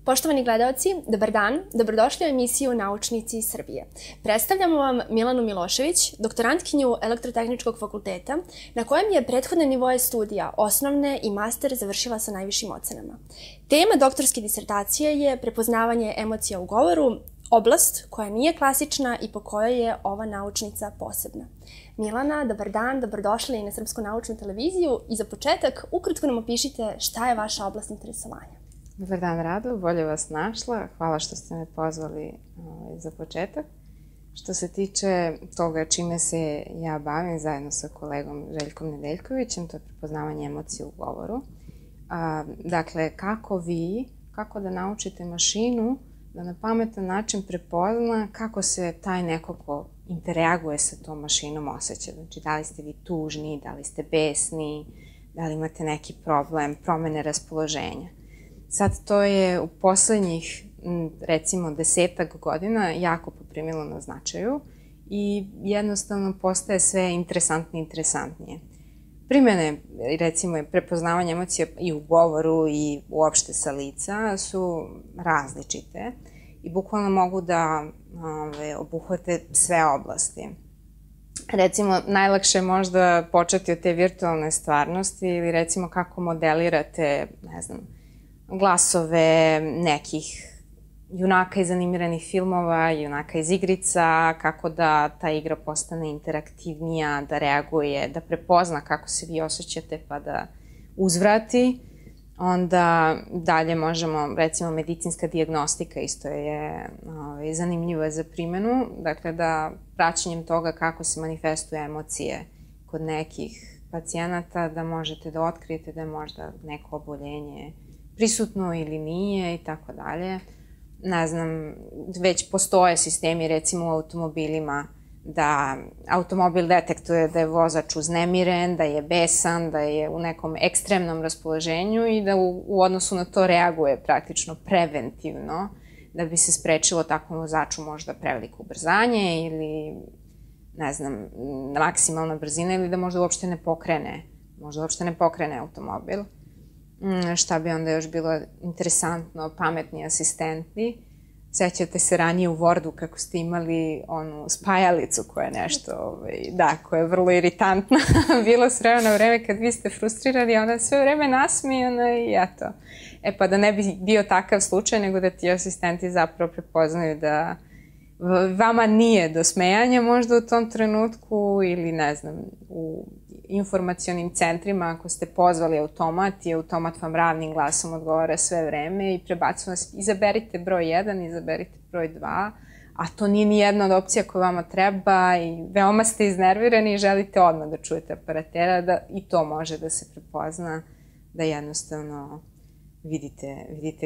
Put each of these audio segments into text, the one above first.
Poštovani gledaoci, dobar dan, dobrodošli u emisiju Naučnici iz Srbije. Predstavljamo vam Milanu Milošević, doktorantkinju Elektrotehničkog fakulteta, na kojem je prethodne nivoje studija, osnovne i master, završila sa najvišim ocenama. Tema doktorske disertacije je prepoznavanje emocija u govoru, oblast koja nije klasična i po kojoj je ova naučnica posebna. Milana, dobar dan, dobrodošli na Srpsku naučnu televiziju i za početak ukratko nam opišite šta je vaša oblast interesovanja. Dobar dan, Rado, bolje vas našla. Hvala što ste me pozvali za početak. Što se tiče toga čime se ja bavim zajedno sa kolegom Željkom Nedeljkovićem, to je prepoznavanje emocija u govoru. Dakle, kako da naučite mašinu da na pametan način prepozna kako se taj neko ko interaguje sa tom mašinom osjeća. Znači, da li ste vi tužni, da li ste besni, da li imate neki problem, promene raspoloženja. Sad to je u poslednjih, recimo, 10-ak godina jako poprimilo na značaju i jednostavno postaje sve interesantnije. Primjene, recimo, prepoznavanje emocija i u govoru i uopšte sa lica su različite i bukvalno mogu da obuhvate sve oblasti. Recimo, najlakše je možda početi od te virtualne stvarnosti ili recimo kako modelirate, ne znam, glasove nekih junaka iz animiranih filmova, junaka iz igrica, kako da ta igra postane interaktivnija, da reaguje, da prepozna kako se vi osjećate pa da uzvrati. Onda dalje možemo, recimo, medicinska dijagnostika isto je zanimljiva za primjenu. Dakle, da praćenjem toga kako se manifestuju emocije kod nekih pacijenata, da možete da otkrijete da je možda neko oboljenje prisutno ili nije i tako dalje. Ne znam, već postoje sistemi, recimo u automobilima, da automobil detektuje da je vozač uznemiren, da je besan, da je u nekom ekstremnom raspoloženju i da u odnosu na to reaguje praktično preventivno, da bi se sprečilo takvom vozaču možda preveliko ubrzanje ili, ne znam, maksimalna brzina ili da možda uopšte ne pokrene automobil. Šta bi onda još bilo interesantno, pametni asistenti. Sećate se ranije u Wordu kako ste imali onu spajalicu koja je nešto, koja je vrlo iritantna. Bilo s vremena na vreme kad vi ste frustrirani, a onda sve vreme nasmijana i eto. Pa da ne bi bio takav slučaj, nego da ti asistenti zapravo prepoznaju da vama nije do smejanja možda u tom trenutku ili ne znam, u informacionim centrima ako ste pozvali automat i automat vam ravnim glasom odgovara sve vreme i prebacuje vas, izaberite broj 1, izaberite broj 2, a to nije ni jedna od opcija koja vama treba i veoma ste iznervirani i želite odmah da čujete operatera, da i to može da se prepozna, da jednostavno vidite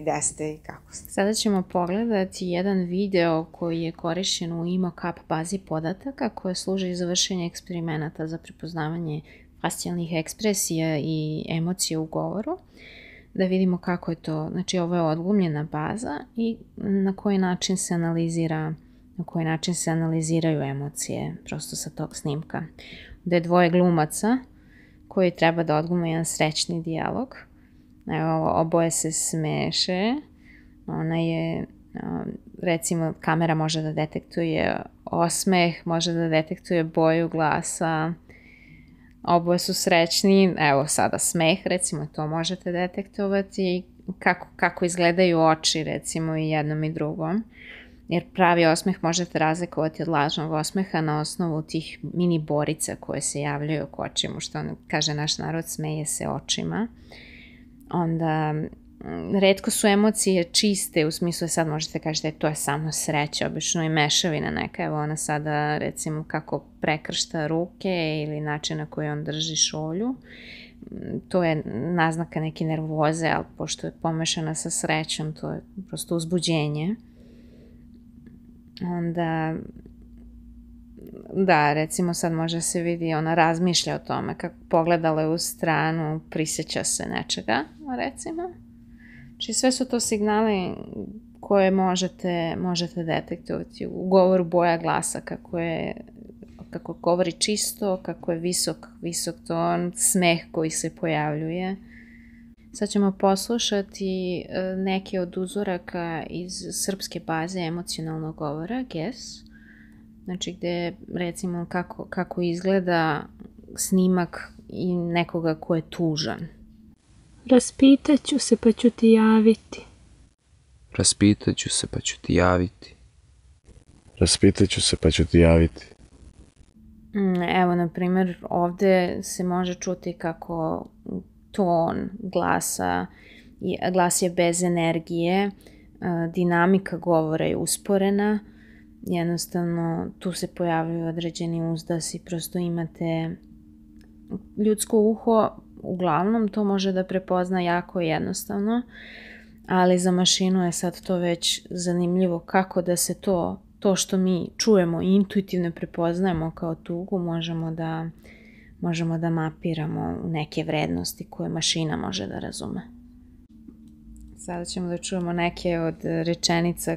gde ste i kako ste. Sada ćemo pogledati jedan video koji je korišćen u IMO-CAP bazi podataka koja služi za vršenje eksperimenata za prepoznavanje facijalnih ekspresija i emocija u govoru. Da vidimo kako je to, znači ovo je odglumljena baza i na koji način se analiziraju emocije prosto sa tog snimka. Gde je dvoje glumaca koji treba da odglume jedan srećni dijalog. Evo, oboje se smeše, ona je, recimo, kamera može da detektuje osmeh, može da detektuje boju glasa, oboje su srećni, evo sada smeh, recimo, to možete detektovati, kako izgledaju oči, recimo, i jednom i drugom, jer pravi osmeh možete razlikovati od lažnog osmeha na osnovu tih mini borica koje se javljaju oko očima, što kaže naš narod, smeje se očima. Onda, retko su emocije čiste, u smislu sad možete kažete to je samo sreća, obično i mešavina neka, evo ona sada recimo kako prekršta ruke ili način na koji on drži šolju, to je naznaka neke nervoze, ali pošto je pomešana sa srećom, to je prosto uzbuđenje. Onda, da, recimo sad može se vidi, ona razmišlja o tome, kako pogledala je u stranu, prisjeća se nečega, recimo. Znači sve su to signali koje možete detektovati. U govoru boja glasa, kako govori čisto, kako je visok ton, smeh koji se pojavljuje. Sad ćemo poslušati neke od uzoraka iz srpske baze emocionalnog govora, GES. Znači gde recimo kako izgleda snimak i nekoga ko je tužan. Raspitaću se pa ću ti javiti. Raspitaću se pa ću ti javiti. Raspitaću se pa ću ti javiti. Evo, na primjer, ovde se može čuti kako ton glasa, glas je bez energije, dinamika govora je usporena, jednostavno tu se pojavljaju određeni uzdasi, prosto imate ljudsko uho, uglavnom to može da prepozna jako jednostavno, ali za mašinu je sad to već zanimljivo kako da se to što mi čujemo i intuitivno prepoznajemo kao tugu, možemo da mapiramo u neke vrednosti koje mašina može da razume. Sada ćemo da čujemo neke od rečenica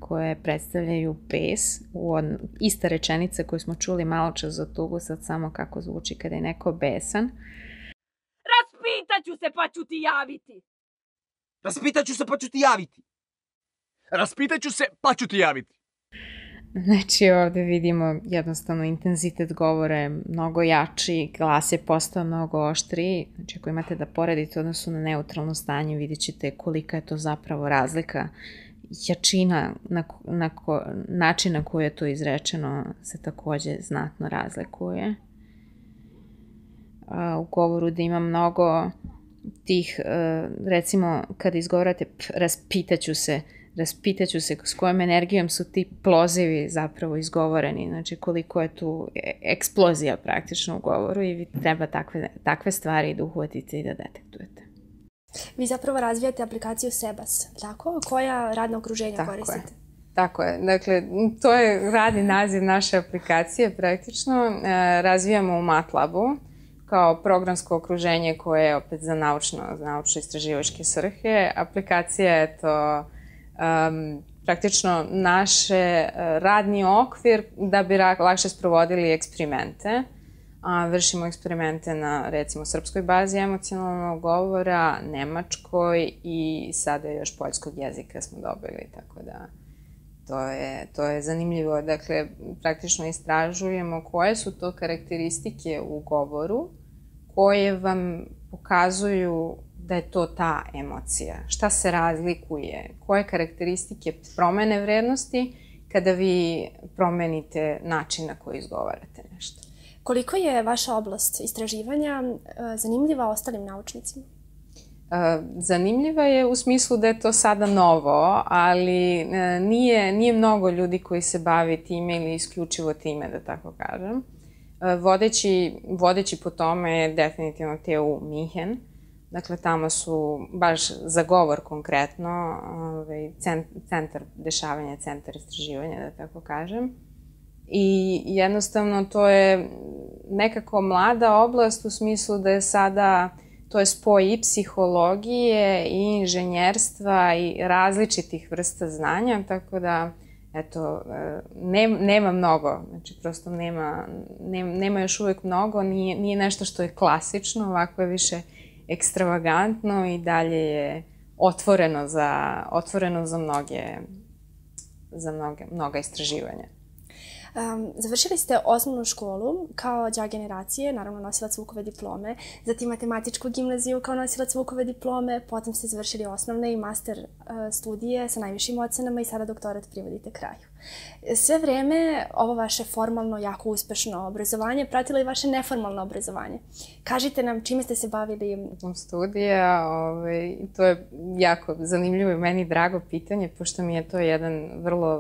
koje predstavljaju bes. Ista rečenica koju smo čuli malo čas za tugu, sad samo kako zvuči kada je neko besan. Raspitaću se pa ću ti javiti. Raspitaću se pa ću ti javiti. Raspitaću se pa ću ti javiti. Znači ovde vidimo jednostavno intenzitet govora je mnogo jači, glas je postao mnogo oštriji. Znači ako imate da poredite odnosu na neutralno stanje, vidjet ćete kolika je to zapravo razlika. Jačina, način na koji je to izrečeno se takođe znatno razlikuje. U govoru da ima mnogo tih, recimo kada izgovarate raspitaću se s kojom energijom su ti plozivi zapravo izgovoreni, znači koliko je tu eksplozija praktično u govoru i vi treba takve stvari da uhvatite i da detektujete. Vi zapravo razvijate aplikaciju Sebas, tako? Koja radna okruženja koristite? Tako je. Dakle, to je radni naziv naše aplikacije praktično. Razvijamo u MATLAB-u kao programsko okruženje koje je opet za naučno-istraživačke svrhe. Aplikacija je to praktično naš radni okvir da bi lakše sprovodili eksperimente. Vršimo eksperimente na, recimo, srpskoj bazi emocionalnog govora, nemačkoj i sada još poljskog jezika smo dobili, tako da to je zanimljivo. Dakle, praktično istražujemo koje su to karakteristike u govoru koje vam pokazuju da je to ta emocija. Šta se razlikuje? Koje karakteristike promene vrednosti kada vi promenite način na koji izgovarate nešto? Koliko je vaša oblast istraživanja zanimljiva ostalim naučnicima? Zanimljiva je u smislu da je to sada novo, ali nije mnogo ljudi koji se bavi time ili isključivo time, da tako kažem. Vodeći po tome je definitivno TU Minhen. Dakle, tamo su baš za govor konkretno centar dešavanja, centar istraživanja, da tako kažem. I jednostavno to je nekako mlada oblast u smislu da je sada, to je spoj i psihologije i inženjerstva i različitih vrsta znanja, tako da, eto, nema mnogo, znači prosto nema još uvek mnogo, nije nešto što je klasično, ovako je više ekstravagantno i dalje je otvoreno za mnoga istraživanja. Završili ste osnovnu školu kao đak generacije, naravno nosilac Vukove diplome, zatim matematičku gimnaziju kao nosilac Vukove diplome, potom ste završili osnovne i master studije sa najvišim ocenama i sada doktorat privodite kraju. Sve vreme ovo vaše formalno, jako uspešno obrazovanje pratilo i vaše neformalno obrazovanje. Kažite nam čime ste se bavili? Studija, to je jako zanimljivo i meni drago pitanje, pošto mi je to jedan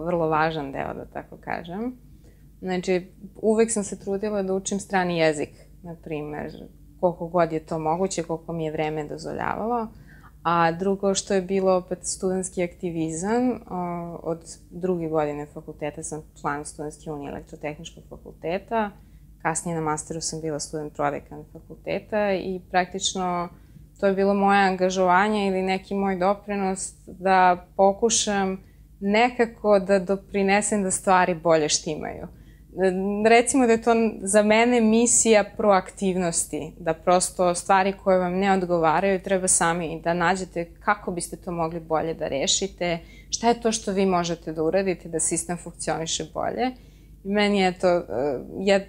vrlo važan deo, da tako kažem. Znači, uvek sam se trudila da učim strani jezik, na primer, koliko god je to moguće, koliko mi je vreme dozvoljavalo. A drugo što je bilo opet studentski aktivizam, od druge godine fakulteta sam član Studentske unije Elektrotehničkog fakulteta, kasnije na masteru sam bila student prodekan fakulteta i praktično to je bilo moje angažovanje ili neki moj doprinos da pokušam nekako da doprinesem da stvari bolje štimaju. recimo da je to za mene misija proaktivnosti, da prosto stvari koje vam ne odgovaraju treba sami da nađete kako biste to mogli bolje da rešite, šta je to što vi možete da uradite da sistem funkcioniše bolje. Meni je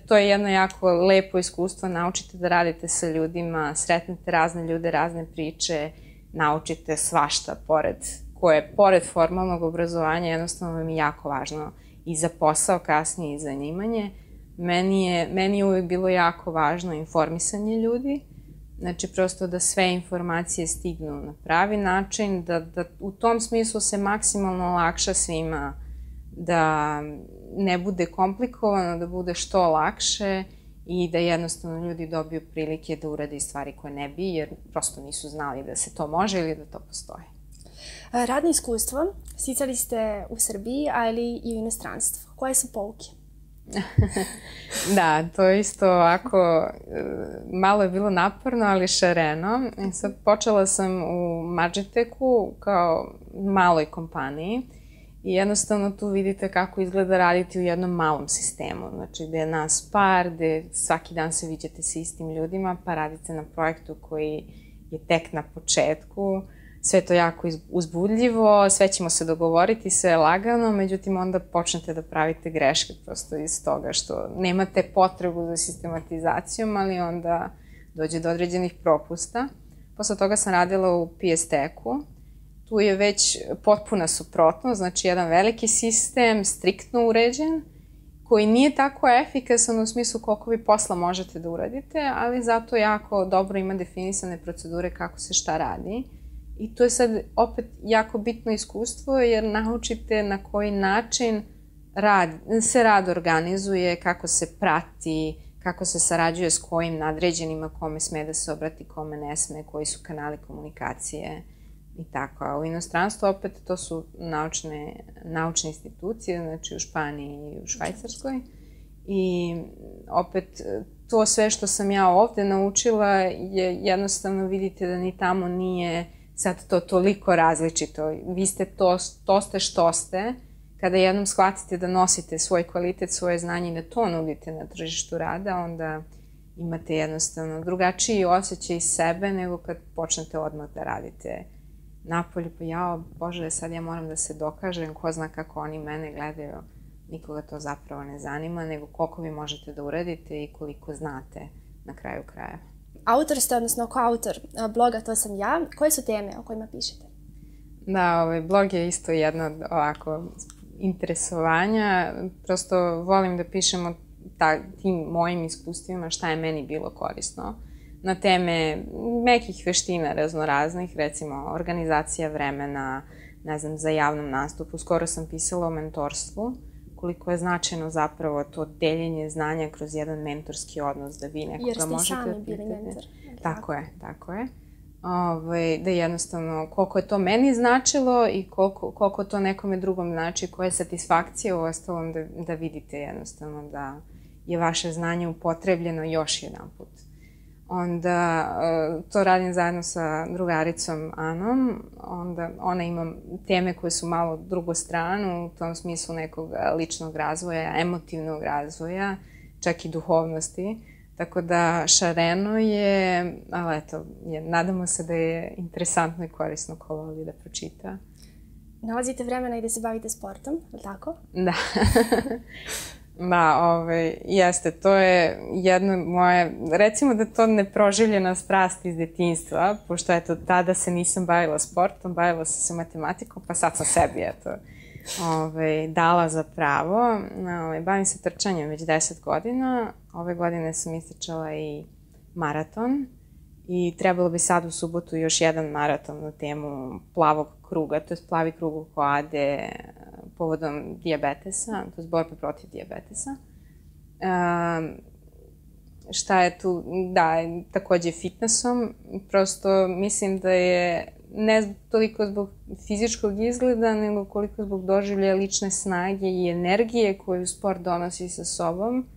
to je jedno jako lepo iskustvo, naučite da radite sa ljudima, sretnete razne ljude, razne priče, naučite svašta pored formalnog obrazovanja, jednostavno vam je jako važno i za posao kasnije i za zanimanje. Meni je uvijek bilo jako važno informisanje ljudi, znači prosto da sve informacije stignu na pravi način, da u tom smislu se maksimalno olakša svima, da ne bude komplikovano, da bude što lakše i da jednostavno ljudi dobiju prilike da urade stvari koje ne bi, jer prosto nisu znali da se to može ili da to postoji. Radno iskustvo sticali ste u Srbiji, ali i u inostranstvu. Koje su pouke? Da, to isto ovako, malo je bilo naporno, ali šareno. Sad počela sam u Magitechu kao maloj kompaniji i jednostavno tu vidite kako izgleda raditi u jednom malom sistemu. Znači, gde je nas par, gde svaki dan se viđate sa istim ljudima, pa radite na projektu koji je tek na početku. Sve je to jako uzbudljivo, sve ćemo se dogovoriti, sve je lagano, međutim onda počnete da pravite greške prosto iz toga što nemate potrebu za sistematizacijom, ali onda dođe do određenih propusta. Posle toga sam radila u PS Techu. Tu je već potpuna suprotnost, znači jedan veliki sistem, striktno uređen, koji nije tako efikasan u smislu koliko vi posla možete da uradite, ali zato jako dobro ima definisane procedure kako se šta radi. I to je sad opet jako bitno iskustvo jer naučite na koji način se rad organizuje, kako se prati, kako se sarađuje s kojim nadređenima, kome sme da se obrati, kome ne sme, koji su kanali komunikacije i tako. A u inostranstvu opet to su naučne institucije, znači u Španiji i u Švajcarskoj. I opet to sve što sam ja ovde naučila je jednostavno vidite da ni tamo nije sad to toliko različito. Vi ste to ste što ste. Kada jednom shvatite da nosite svoj kvalitet, svoje znanje i da to nudite na tržištu rada, onda imate jednostavno drugačiji osjećaj sebe nego kad počnete odmah da radite napolju. Pa jao, Bože, sad ja moram da se dokažem, ko zna kako oni mene gledaju. Nikoga to zapravo ne zanima, nego koliko vi možete da uradite i koliko znate na kraju krajeva. Autor ste, odnosno koautor bloga To sam ja. Koje su teme o kojima pišete? Da, blog je isto jedno od ovako interesovanja. Prosto volim da pišem o tim mojim iskustvima šta je meni bilo korisno. Na teme mekih veština raznoraznih, recimo organizacija vremena, ne znam, za javnom nastupu. Skoro sam pisala o mentorstvu, koliko je značajno zapravo to deljenje znanja kroz jedan mentorski odnos, da vi nekoga možete... Jer ste sami bili mentor. Tako je. Da jednostavno, koliko je to meni značilo i koliko to nekome drugom znači, koja je satisfakcija u ostalom da vidite jednostavno da je vaše znanje upotrebljeno još jedan put. Onda to radim zajedno sa drugaricom Anom, onda ona ima teme koje su malo drugu stranu, u tom smislu nekog ličnog razvoja, emotivnog razvoja, čak i duhovnosti. Tako da šareno je, ali eto, nadamo se da je interesantno i korisno ko voli da pročita. Nalazite vremena i da se bavite sportom, je li tako? Da. Da, jeste, to je jedno moje, recimo da to neproživljena strast iz detinjstva, pošto eto, tada se nisam bavila sportom, bavila sam se matematikom, pa sad sam sebi, eto, dala za pravo. Bavim se trčanjem već 10 godina, ove godine sam istrčala i maraton i trebalo bi sad u subotu još jedan maraton na temu plavog kruga, to je plavi krug oko Ade, povodom dijabetesa, to je borba protiv dijabetesa. Šta je tu? Da, takođe fitnessom. Prosto mislim da je ne toliko zbog fizičkog izgleda, nego koliko zbog doživljaja lične snage i energije koju sport donosi sa sobom,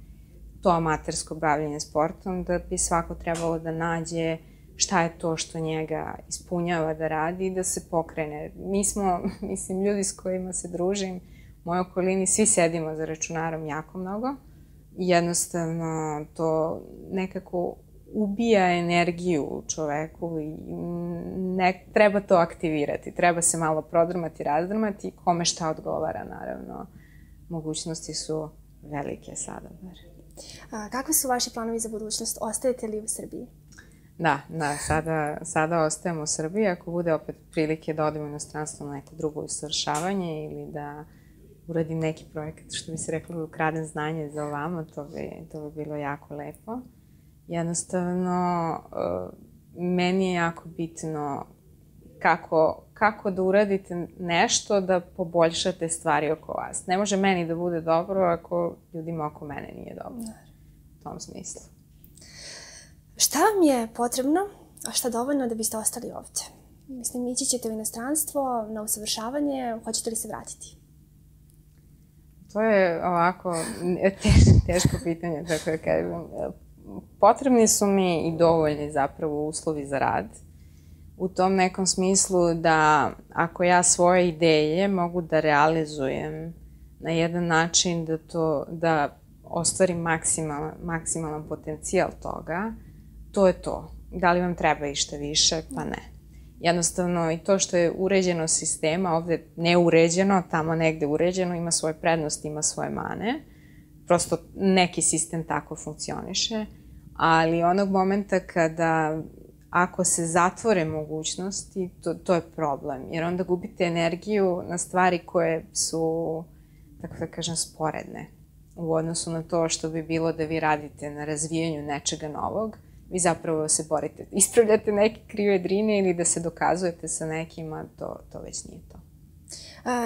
to amatersko bavljenje sportom, da bi svako trebalo da nađe šta je to što njega ispunjava da radi i da se pokrene. Mi smo, mislim, ljudi s kojima se družim, u mojoj okolini, svi sedimo za računarom jako mnogo. jednostavno to nekako ubija energiju u čoveku i treba to aktivirati. Treba se malo prodrmati, razdrmati, kome šta odgovara, naravno. Mogućnosti su velike sada. Kakvi su vaši planovi za budućnost? Ostajete li u Srbiji? Da, sada ostajemo u Srbiji. Ako bude opet prilike da odemo u inostranstvo na neko drugo usavršavanje ili da uradim neki projekat, što bi se reklo, ukradem znanje za ovamo, to bi bilo jako lepo. Jednostavno, meni je jako bitno kako da uradite nešto da poboljšate stvari oko vas. Ne može meni da bude dobro ako ljudima oko mene nije dobro. U tom smislu. Šta vam je potrebno, a šta dovoljno da biste ostali ovdje? Mislim, ići ćete u inostranstvo na usavršavanje, hoćete li se vratiti? To je ovako teško pitanje, tako da kažem. Potrebni su mi i dovoljni zapravo uslovi za rad. U tom nekom smislu da ako ja svoje ideje mogu da realizujem na jedan način da ostvarim maksimalan potencijal toga, to je to. Da li vam treba išta više? Pa ne. Jednostavno i to što je uređeno sistema, ovde neuređeno, tamo negde uređeno, ima svoje prednosti, ima svoje mane. Prosto neki sistem tako funkcioniše, ali onog momenta kada ako se zatvore mogućnosti, to je problem, jer onda gubite energiju na stvari koje su, tako da kažem, sporedne u odnosu na to što bi bilo da vi radite na razvijanju nečega novog. Vi zapravo se borite, ispravljate neke krive drine ili da se dokazujete sa nekima, to već nije to.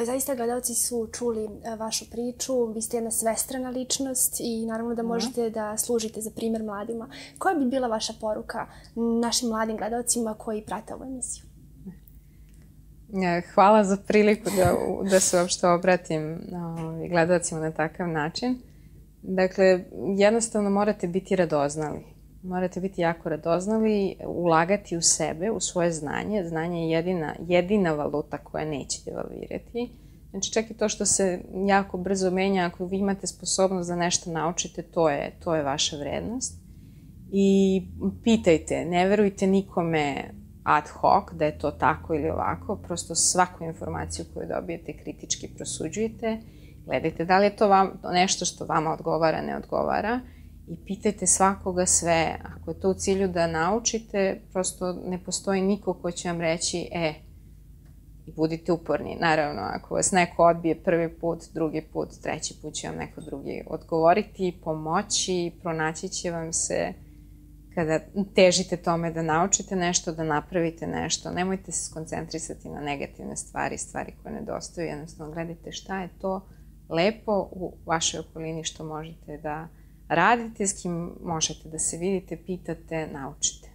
Zaista gledalci su čuli vašu priču, vi ste jedna svestrana ličnost i naravno da možete da služite za primjer mladima. Koja bi bila vaša poruka našim mladim gledalcima koji prate ovu emisiju? Hvala za priliku da se uopšte obratim gledalcima na takav način. Dakle, jednostavno morate biti radoznali. Morate biti jako radoznali, ulagati u sebe, u svoje znanje. Znanje je jedina valuta koja neće devalvirati. Znači, čak i to što se jako brzo menja, ako vi imate sposobnost da nešto naučite, to je vaša vrednost. I pitajte, ne verujte nikome ad hoc da je to tako ili ovako, prosto svaku informaciju koju dobijete kritički prosuđujete, gledajte da li je to nešto što vama odgovara, ne odgovara. I pitajte svakoga sve. Ako je to u cilju da naučite, prosto ne postoji niko ko će vam reći i budite uporni. Naravno, ako vas neko odbije prvi put, drugi put, treći put će vam neko drugi odgovoriti, pomoći, pronaći će vam se kada težite tome da naučite nešto, da napravite nešto. Nemojte se skoncentrisati na negativne stvari koje nedostaju. Jednostavno, gledajte šta je to lepo u vašoj okolini što možete da radite, s kim možete da se vidite, pitate, naučite.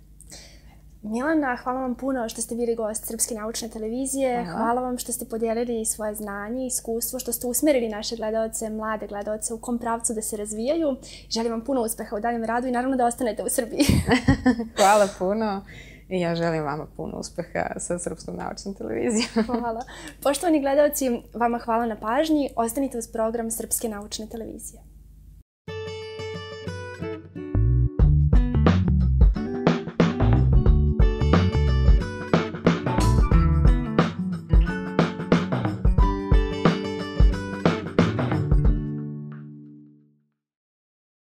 Milana, hvala vam puno što ste bili gost Srpske naučne televizije. Hvala vam što ste podijelili svoje znanje i iskustvo, što ste usmerili naše gledalce, mlade gledalce u kom pravcu da se razvijaju. Želim vam puno uspeha u daljem radu i naravno da ostanete u Srbiji. Hvala puno i ja želim vama puno uspeha sa Srpskom naučnom televizijom. Hvala. Poštovani gledalci, vama hvala na pažnji. Ostanite uz program Srpske naučne televizije.